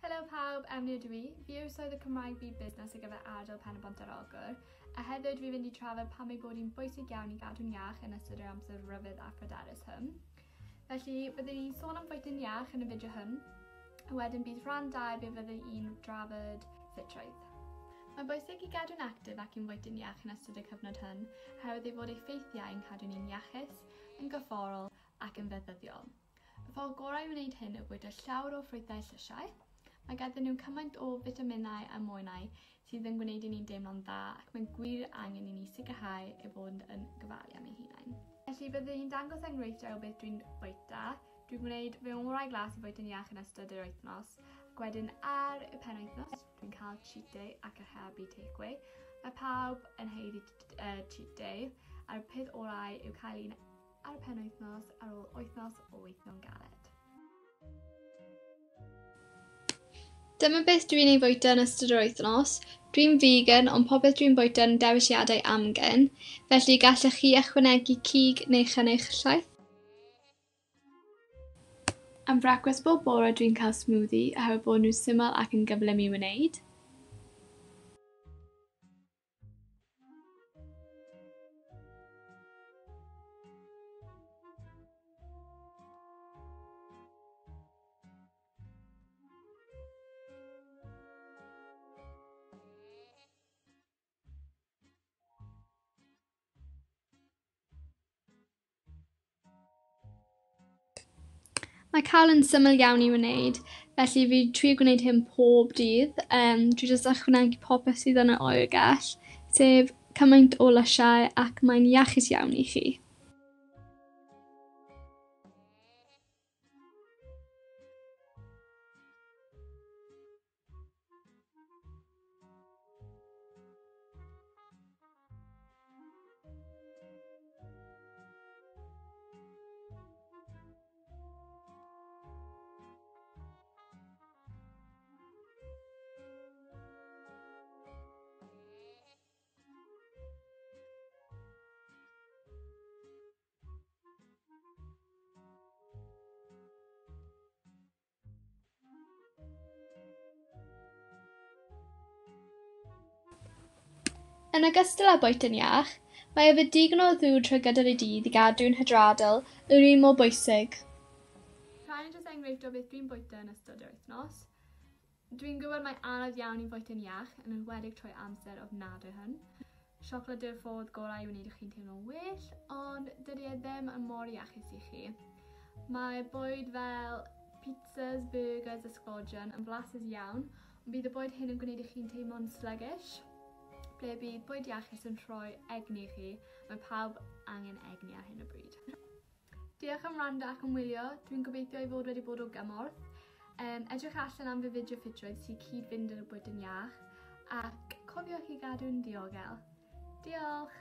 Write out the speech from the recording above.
Helo pawb, Emily ydw i. Fi yw'r Swyddog Cymraeg Byd Busnes ar gyfer ardal Pen-y-bont ar Ogwr, a heddiw dw i'n mynd i trafod pam ei bod hi'n bwysig iawn i gadw'n iach yn ystod yr amser rhyfedd a phryderus hwn. Felly, byddwn ni'n sôn am fwyta'n iach yn y fideo hwn, a wedyn bydd rhan 2 be fyddwn i'n drafod ffitrwydd. Mae'n bwysig i gadw'n actif ac i'n fwyta'n iach yn ystod y cyfnod hwn, oherwydd ei fod ei ffeithiau yn cadw ni'n iachus, yn gorfforol ac yn feddyddiol. Y ffordd gorau i wneud hyn yw bwyta llawer o ffrwythau llysiau. Mae ganddyn nhw cymaint o fitaminau a mwynau sydd yn gwneud i ni'n deimlo'n dda ac mae gwir angen i ni sicrhau eu bod yn gofalu am eu hunain. Felly byddwn i'n dangos enghreifftiau o beth dwi'n bwyta. Dwi'n gwneud fy ngorau glas i fwyta'n iach yn ystod yr wythnos ac wedyn ar y penwythnos dwi'n cael cheat day ac archebu takeaway. Mae pawb yn haeddu cheat day a'r peth orau yw cael un ar y penwythnos ar ôl wythnos o weithio'n galed. Dyma beth dwi'n ei fwyta yn ystod yr wythnos. Dwi'n vegan, ond popeth dwi'n bwyta yn dewisiadau amgen, felly gallech chi ychwanegu cig neu chynnyrch llaeth. Am frecwast bob bore dwi'n cael smoothie oherwydd bod nhw'n syml ac yn gyflym i wneud. Mae cawl yn syml iawn i wneud, felly fi trio gwneud hyn pob dydd. Um, dwi jyst ychwanegu popeth sydd yn y oergell, sef cymaint o lysiau ac mae'n iachus iawn i chi. Yn ogystal â bwyta'n iach, mae yfed digon o ddŵr trwy gydol y dydd i gadw'n hydradol yr un mor bwysig. Rhain yn jyst enghraifft o beth dwi'n bwyta yn ystod yr wythnos. Dwi'n gwybod mae anodd iawn i fwyta'n iach, yn enwedig trwy amser ofnadwy hwn. Siocled yw'r ffordd gorau i wneud i chi'n teimlo'n well, ond dydy e ddim yn mor iachus i chi. Mae bwyd fel pizzas, burgers a sglodion yn flasus iawn, ond bydd y bwyd hyn yn gwneud i chi'n teimlo'n sluggish, ble bydd bwyd iachus yn rhoi egni i chi. Mae pawb angen egni ar hyn o bryd. Diolch am wrando ac am wylio, dwi'n gobeithio ei fod wedi bod o gymorth. Um, edrych allan am fy fideo ffitrwydd sy'n cyd-fynd yn y bwyd yn iach, ac cofiwch i gadw'n ddiogel. Diolch!